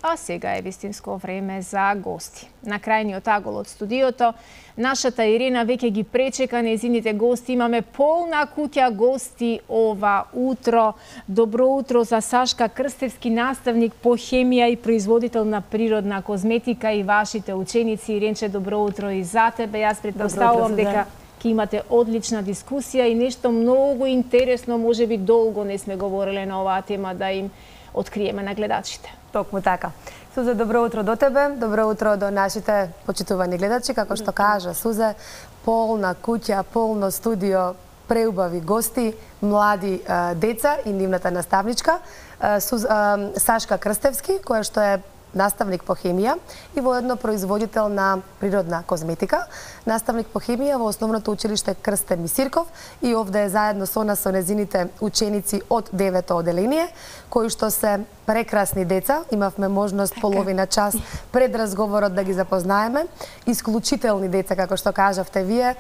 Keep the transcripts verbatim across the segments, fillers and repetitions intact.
А сега е вистинско време за гости. На крајниот агол од студиото, нашата Ирина веќе ги пречека нејзините гости. Имаме полна куќа гости ова утро. Добро утро за Сашка Крстевски, наставник по хемија и производител на природна козметика, и вашите ученици. Иринче, добро утро и за тебе. Јас претпоставувам дека ќе имате одлична дискусија и нешто многу интересно, можеби долго не сме говореле на оваа тема, да им откриеме на гледачите. Токму така. Сузе, добро утро до тебе, добро утро до нашите почитувани гледачи. Како што кажа Сузе, полна куќа, полно студио, преубави гости, млади а, деца и нивната наставничка Суз, а, Сашка Крстевски, која што е наставник по хемија и воедно производител на природна козметика, наставник по хемија во основното училиште Крстен Мисирков, и овде е заедно со нас со незините ученици од девето оделение, кои што се прекрасни деца. Имавме можност половина час пред разговорот да ги запознаеме. Исклучителни деца, како што кажавте вие,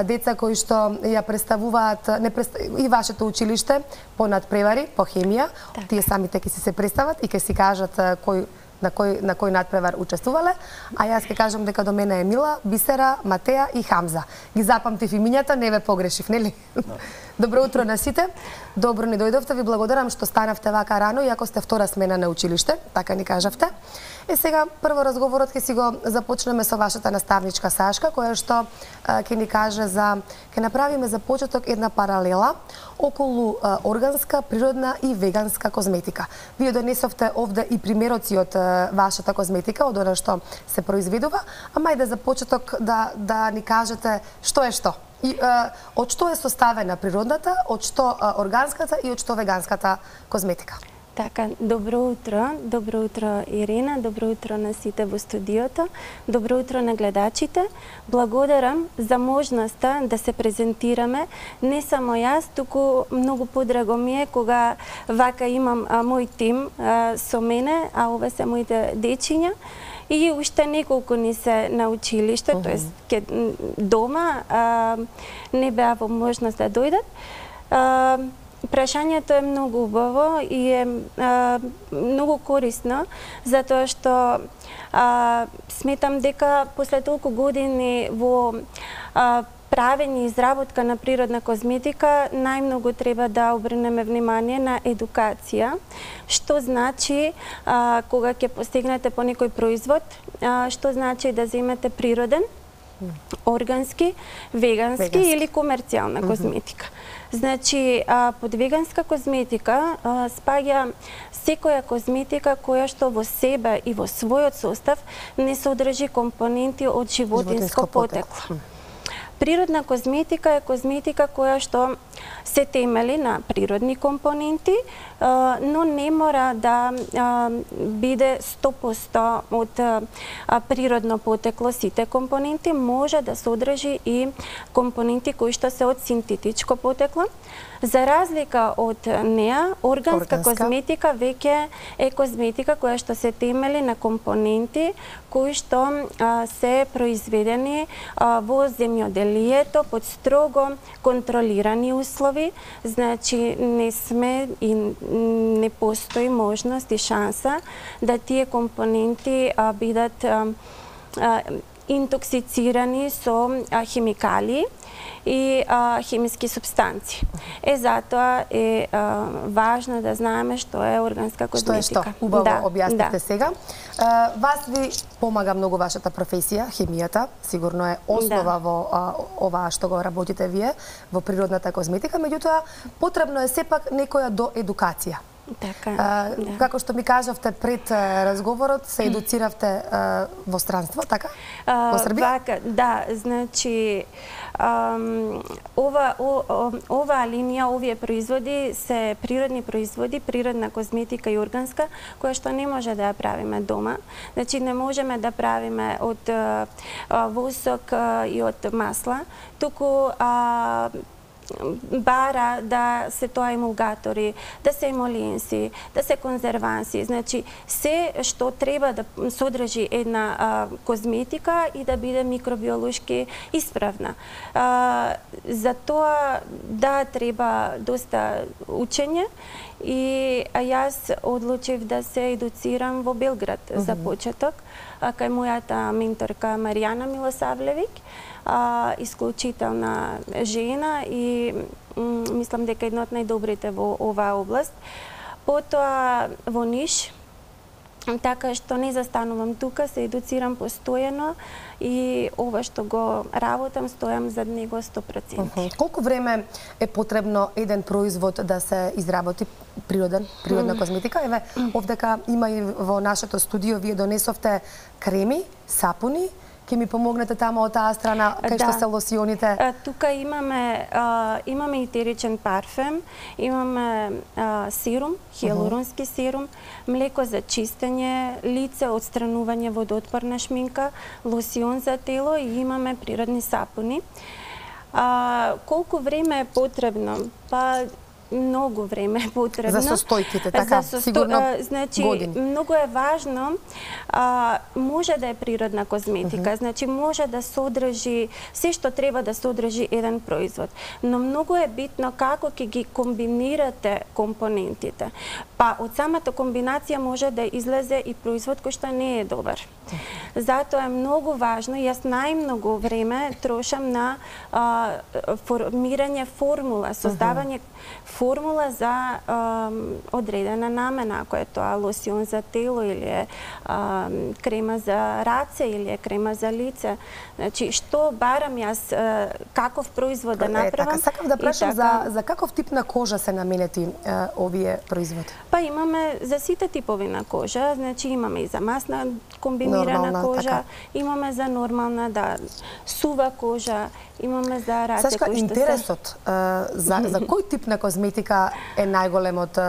деца кои што ја представуваат не пред... и вашето училиште по надпревари, по хемија. Так. Тие самите ќе си се представат и ќе си кажат кој на кој на кој надпревар учествувале, а јас ќе кажам дека до мене е Мила, Бисера, Матеја и Хамза. Ги запамтив имињата, не ве погрешив, нели? No. Добро утро на сите. Добро ни дојдовте, ви благодарам што станавте вака рано, иако сте втора смена на училиште, така ни кажавте. Е сега прво разговорот ќе си го започнеме со вашата наставничка Сашка, која што ќе ни каже за ќе направиме за почеток една паралела околу а, органска, природна и веганска козметика. Вие донесовте овде и примероци од а, вашата козметика, од она што се произведува, ама и да за почеток да да ни кажете што е што. И а, од што е составена природната, од што а, органската и од што веганската козметика? Така, добро утро, добро утро Ирина, добро утро на сите во студиото, добро утро на гледачите. Благодарам за можноста да се презентираме, не само јас, туку многу подраго ми е кога вака имам а, мој тим а, со мене, а ове се моите дечиња. И уште неколку ни се на училиште, uh -huh. тоест ке дома а, не беа во можност да дојдат. А, Прашањето е многу убаво и е а, многу корисно, затоа што а, сметам дека после толку години во а, правење и изработка на природна козметика, најмногу треба да обрнеме внимание на едукација, што значи а, кога ќе постигнете по некој производ, а, што значи да земете природен, органски, вегански, вегански. или комерцијална mm-hmm. козметика. Значи, а, под веганска козметика а, спаѓа секоја козметика која што во себе и во својот состав не содржи компоненти од животинско, животинско потекло. потекло. Природна козметика е козметика која што се темели на природни компоненти, но не мора да биде сто проценти од природно потекло сите компоненти, може да содржи и компоненти кои што се од синтетичко потекло. За разлика од неа, органска, органска козметика веќе е козметика која што се темели на компоненти кои што а, се произведени а, во земјоделието под строго контролирани услови. Значи не сме и не постои можност и шанса да тие компоненти а, бидат а, а, интоксицирани со а, химикали и а, хемиски субстанции. Е, затоа е а, важно да знаеме што е органска козметика. Што е што? Убаво да, објасните да. сега. А, вас ви помага многу вашата професија, хемијата, сигурно е основа да. во а, ова што го работите вие, во природната козметика, меѓутоа потребно е сепак некоја до едукација. Така, а, да. Како што ми кажавте пред а, разговорот, се едуциравте а, во странство, така? Во Србија? Вака, да, значи ам, ова о, о, оваа линија, овие производи се природни производи, природна козметика и органска, која што не може да ја правиме дома. Значи не можеме да правиме од а, восок а, и од масла, туку а, бара да се тоа емулгатори, да се емолиенси, да се конзерванси, значи се што треба да содржи една а, козметика и да биде микробиолошки исправна. А, за тоа да треба доста учење И јас одлучив да се едуцирам во Белград mm -hmm. за почеток, кај мојата менторка Маријана Милосавлевик, исклучителна жена и мислам дека една од најдобрите во оваа област. Потоа во Ниш, така што не застанувам тука, се едуцирам постојано и ова што го работам, стојам за него сто проценти. Uh -huh. Колку време е потребно еден производ да се изработи, природен, природна козметика? Еве, овдека има и во нашето студио, вие донесовте креми, сапуни, ќе ми помогнете тамо од таа страна, кај што се лосионите? А, тука имаме а, имаме етеричен парфем, имаме а, серум, хиалуронски uh -huh. серум, млеко за чистење лице, отстранување водоотпорна шминка, лосион за тело и имаме природни сапуни. А, колку време е потребно? Па многу време е потребно. За состојките, така, за состо... сигурно а, значи, години. Многу е важно, а, може да е природна козметика, uh -huh. значи може да содржи се што треба да содржи еден производ, но многу е битно како ќе ги комбинирате компонентите. Па од самата комбинација може да излезе и производ кој што не е добар. Затоа е многу важно, јас најмногу време трошам на а, формирање формула, создавање uh -huh. формула за а, одредена намена, ако е тоа лосион за тело или е а, крема за раце или е крема за лице. Значи, што барам јас, а, каков производ да направам. Е, така, сакам да прашам така... за, за каков тип на кожа се наменети а, овие производи? Па имаме за сите типови на кожа, значи имаме и за масна комбинирана нормална, кожа, така. Имаме за нормална, да, сува кожа, имаме за раце. Сашка, интересот се... за, за кој тип на козметика е најголем од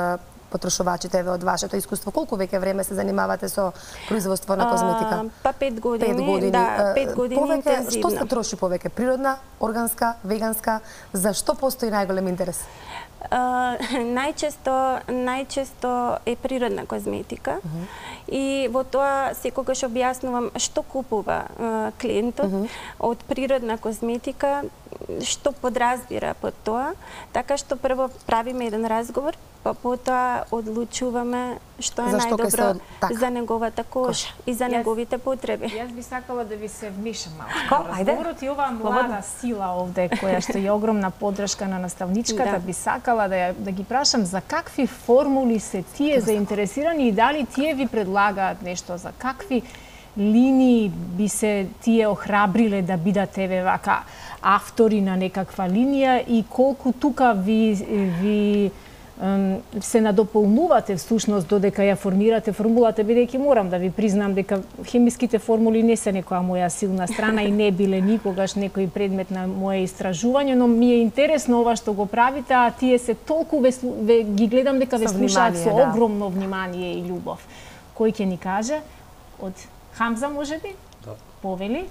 потрошувачите од вашето искуство? Колку веќе време се занимавате со производство на козметика? А, па пет години, пет години. Да, пет години повеќе, интензивно. Што се троши повеќе? Природна, органска, веганска? Зашто постои најголем интерес? Uh, најчесто најчесто е природна козметика uh -huh. и во тоа секогаш објаснувам што купува uh, клиентот uh -huh. од природна козметика, што подразбира под тоа, така што прво правиме еден разговор, па потоа одлучуваме што е најдобро за неговата кожа Кош. и за јас, неговите потреби. Јас би сакала да ви се вмишам малку. Разговорот и оваа млада сила овде, која што е огромна подршка на наставничката, да. би сакала да, ја, да ги прашам за какви формули се тие заинтересирани и дали тие ви предлагаат нешто, за какви линии би се тие охрабриле да бидат еве вака автори на некаква линија и колку тука ви, ви се надополнувате всушност додека ја формирате формулата, бидејќи морам да ви признам дека хемиските формули не се некоја моја силна страна и не биле никогаш некој предмет на моje истражување, но ми е интересно ова што го правите, а тие се толку ве, ве, ги гледам дека ве слушаат со да. огромно внимание и љубов. Кој ќе ни каже? Од Хамза, можеби? Да. Повели?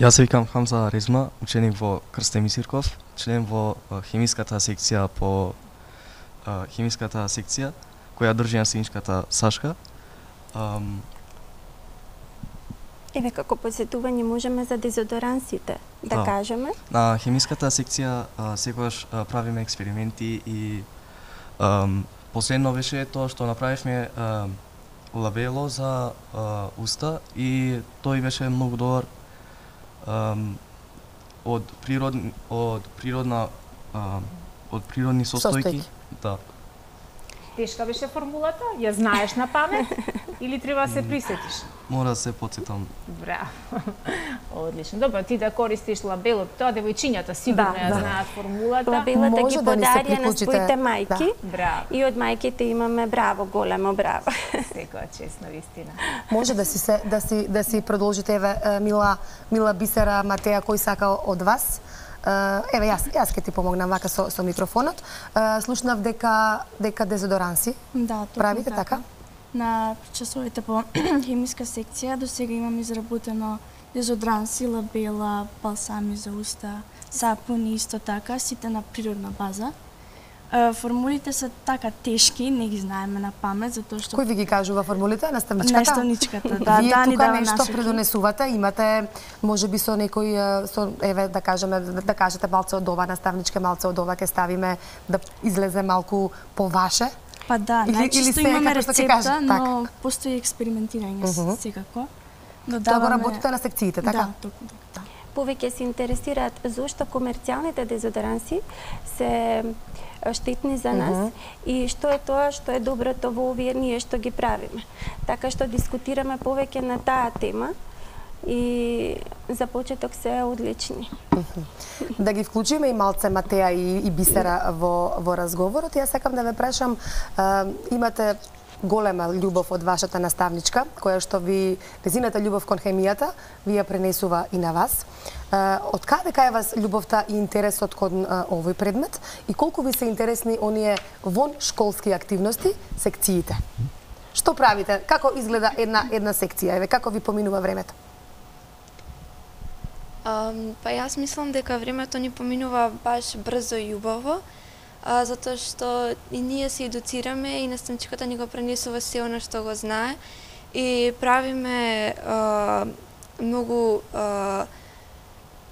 Јас се викам Хамза Резма, ученик во Крстен Мисирков, член во хемиската секција по хемиската секција, која држи наставничката Сашка. Um... Еве како посетување можеме за дезодорансите да, да кажеме. На хемиската секција а, секогаш а, правиме експерименти и um, последно беше тоа што направивме а, лабело за а, уста и тој беше многу добар um, од природ од природна а, од природни состојки. Да. Тешка беше формулата? Ја знаеш на памет или треба да се присетиш? Мора да се потсетам. Браво. Одлично. Добро, ти да користиш лабелот, тоа девојчињата сигурно да, ја да. знаат формулата. Лабелата ги подарија на своите мајки. Да. Браво. И од мајките имаме браво, големо браво. Секоја чест, навистина. Може да си се да си да си продолжите, еве Мила Мила Бисера Матеја, кој сака од вас. Еве јас јас ќе ти помогнам вака со со микрофонот. Слушнав дека дека дезодоранси. Да, правите така? така? На часовите по хемиска секција до сега имам изработено дезодоранси, лабела, балсами за уста, сапуни исто така, сите на природна база. Формулите се така тешки, не ги знаеме на памет, затоа што... Кој ви ги кажува формулите? Наставничката? Наставничката, да, Вие да, ни тука дава нешто насоки. предонесувате, имате можеби со некој со еве да кажеме да, да кажете малце од ова наставничка, малце од ова ќе ставиме да излезе малку по ваше. Па да, или, најчесто или се, имаме како што ќе рецепта, кажа, но така. постои експериментирање uh -huh. секако. Тоа го работите на секциите, така? Да, токму така. Повеќе се интересираат зошто комерцијалните дезодоранси се штетни за нас uh -huh. и што е тоа што е доброто во овие ние што ги правиме. Така што дискутираме повеќе на таа тема и за почеток се одлични. Uh -huh. Да ги вклучиме и малце Матеја и, и Бисера во, во разговорот. Ја сакам да ве прашам, а, имате голема љубов од вашата наставничка, која што ви, незината љубов кон хемијата, ви ја пренесува и на вас. Од каде кај вас љубовта и интересот кон а, овој предмет и колку ви се интересни оние вон школски активности, секциите? Што правите? Како изгледа една една секција? Еве како ви поминува времето? Um, па јас мислам дека времето ни поминува баш брзо и убаво, а, затоа што и ние се едуцираме и наставничката ни го пренесува се она што го знае и правиме а, многу а,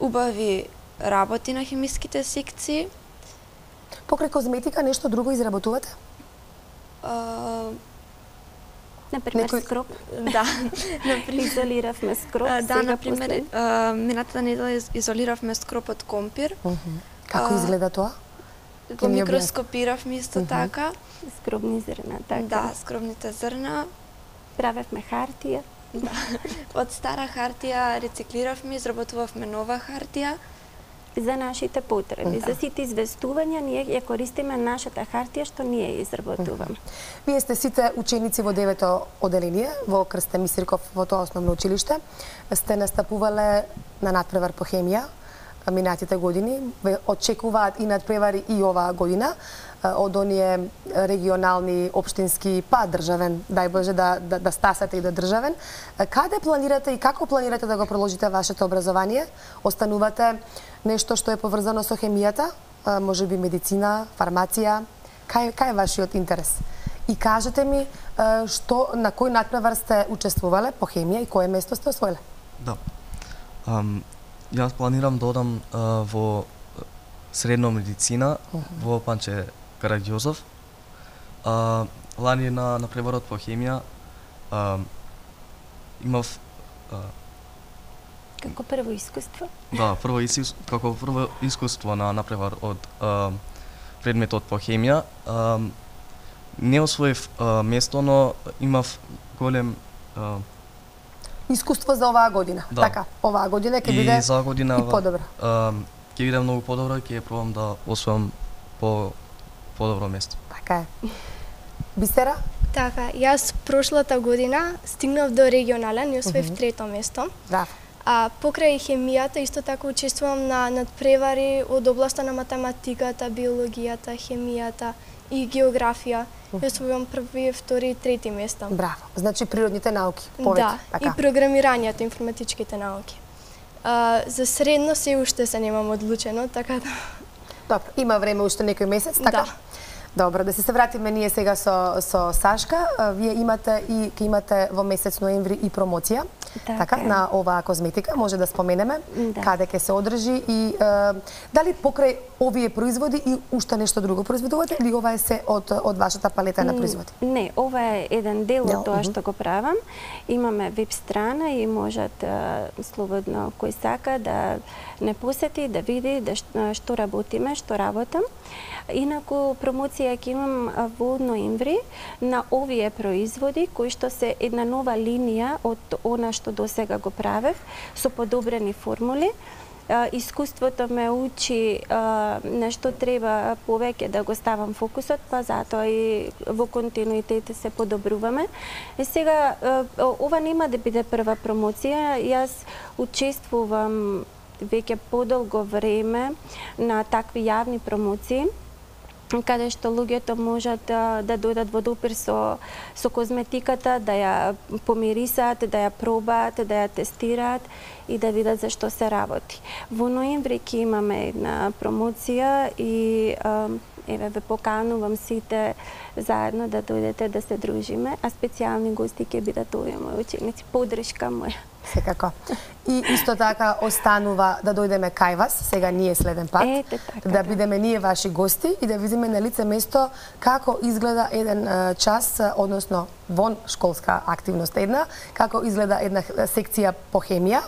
убави работи на хемиските секции. Покрај козметика нешто друго изработувате? А, Например, Некој... скроп. да, например. Изолиравме скроп. А, да, сега например, постои. минатата недела изолиравме скроп од компир. Uh -huh. Како А, изгледа тоа? Го микроскопиравме исто Uh -huh. така. Скробни зрна, така. Да, скромните зрна. Правевме хартија. Да. Од стара хартија рециклиравме, изработувавме нова хартија. За нашите потреби. Да. За сите известувања ние ја користиме нашата хартија што ние ја изработуваме. Вие сте сите ученици во девето оделение во Крстен Мисирков во тоа основно училиште. Сте настапувале на надпревар по хемија минатите години. Ве очекуваат и надпревари и оваа година од оние регионални, општински, па државен, дај Боже да, да, да стасате и до државен. Каде планирате и како планирате да го продолжите вашето образование? Останувате нешто што е поврзано со хемијата, може би медицина, фармација? Кај, кај е вашиот интерес? И кажете ми што, на кој надпревар сте учествувале по хемија и кое место сте освоиле? Да. Um, јас планирам да одам uh, во средно медицина uh -huh. во Панче Караѓозов. Uh, лани на, на преборот по хемија uh, имав uh, Како прво искуство? да, прво искуство, како прво искуство на напревар од uh, предметот по хемија. Uh, не освоив uh, место, но имав голем uh, Искуство за оваа година. Да. Така, оваа година ќе биде и за година и подобро. Uh, ќе биде многу подобро и ќе пробам да освојам по подобро место. Така е. Бисера? Така, јас прошлата година стигнав до регионален и освоив uh -huh. трето место. Да. А покрај хемијата исто така учествувам на надпревари од областа на математиката, биологијата, хемијата и географија. Јас освојувам први, втори и трети места. Браво. Значи природните науки, повеќе. Да, така. и програмирањето, информатичките науки. А, за средно се уште се немам одлучено, така да... Добро, има време уште некој месец, така? Да. Добро, да се се вратиме ние сега со, со Сашка. Вие имате и ќе имате во месец ноември и промоција. Така, така на оваа козметика, може да споменеме Да. каде ќе се одржи и е, дали покрај овие производи и уште нешто друго произведувате или ова е се од од вашата палета на производи? Не, ова е еден дел Дел, од тоа мгм. што го правам. Имаме веб страна и можат а, слободно кој сака да не посети, да види да што, што работиме, што работам. Инаку промоција ќе имам а, во ноември на овие производи кои што се една нова линија од она што досега го правев со подобрени формули. Uh, искуството ме учи uh, на што треба повеќе да го ставам фокусот, па затоа и во континуитет се подобруваме. И сега, uh, ова нема да биде прва промоција, јас учествувам веќе подолго време на такви јавни промоции, каде што луѓето можат да, да дојдат во допир со, со козметиката, да ја помирисаат, да ја пробаат, да ја тестираат и да видат за што се работи. Во ноември ќе имаме една промоција и а, еве ве поканувам сите заедно да дојдете да се дружиме, а специјални гости ќе бидат овие мои ученици. Подршка моја. Секако. И исто така останува да дојдеме кај вас, сега ние следен пат, Ете, така, да бидеме ние ваши гости и да видиме на лице место како изгледа еден час, односно вон школска активност една, како изгледа една секција по хемија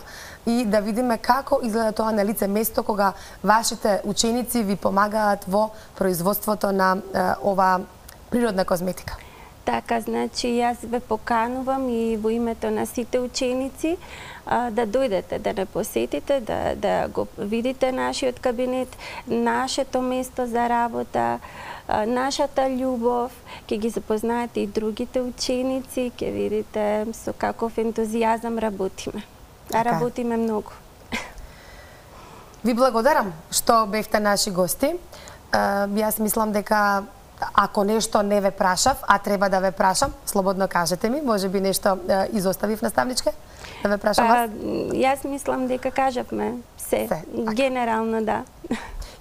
и да видиме како изгледа тоа на лице место кога вашите ученици ви помагаат во производството на ова природна козметика. Така, значи, јас ве поканувам и во името на сите ученици а, да дојдете, да не посетите, да, да го видите нашиот кабинет, нашето место за работа, а, нашата љубов, ќе ги запознаете и другите ученици, ќе видите со каков ентузијазам работиме. А работиме многу. Ви благодарам што бевте наши гости. Јас мислам дека ако нешто не ве прашав, а треба да ве прашам, слободно кажете ми, може би нешто е, изоставив наставничке, да ве прашам па, вас? Јас мислам дека кажавме се, се генерално да.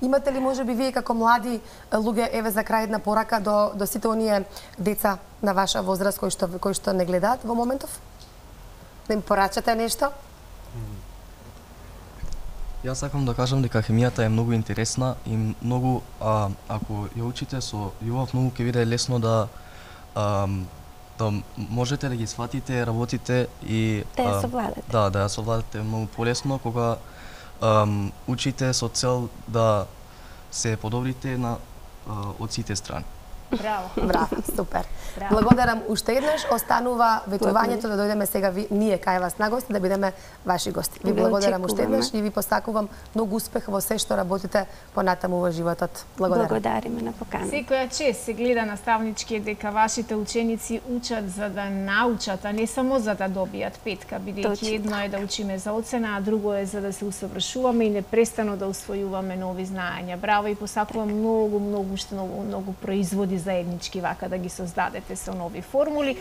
Имате ли може би вие како млади луѓе, еве за крај една порака до, до сите оние деца на ваша возраст кои што, кои што не гледаат во моментов? Да им порачате нешто? Јас сакам да кажам дека хемијата е многу интересна и многу, а, ако ја учите со љубов, многу ќе биде лесно да а, да можете да ги сватите, работите и да ја совладате. Да, да ја совладате многу полесно кога а, учите со цел да се подобрите на а, од сите страни. Браво. Браво, супер. Браво. Благодарам уште еднаш. Останува ветувањето да дојдеме сега ви, ние кај вас на гости, да бидеме ваши гости. Ви благодарам уште еднаш и ви посакувам многу успех во се што работите понатаму во животот. Благодарам. Благодариме на покана. Секоја чест се гледа наставнички дека вашите ученици учат за да научат, а не само за да добијат петка, бидејќи едно е да учиме за оцена, а друго е за да се усовршуваме и непрестано да усвојуваме нови знаења. Браво и посакувам многу, многу, што многу, многу производи заеднички вака да ги создадете со нови формули.